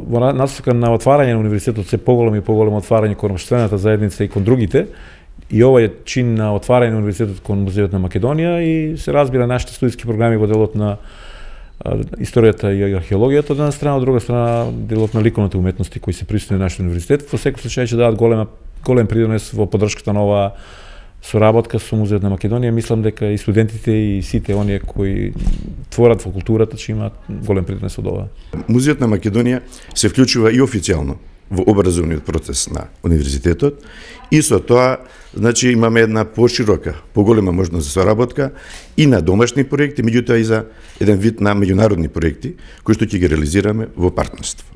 во насока на отварање на универзитетот, се поголемо и поголемо отварање кон општествената заедница и кон другите, и ова е чин на отварање на универзитетот кон Музејот на Македонија и се разбира нашите студиски програми во делот на историјата и археологијата од една страна, од друга страна делот на ликовните уметности кои се присутни на нашиот универзитет, во секој случај ќе дадат голем придонес во поддршката на оваа соработка со Музејот на Македонија. Мислам дека и студентите и сите оние кои творат во културата ќе имаат голем придонес од ова. Музејот на Македонија се вклучува и официјално во образовниот процес на универзитетот и со тоа значи имаме една поширока, поголема можност за соработка и на домашни проекти, меѓутоа и за еден вид на меѓународни проекти кои што ќе ги реализираме во партнерство.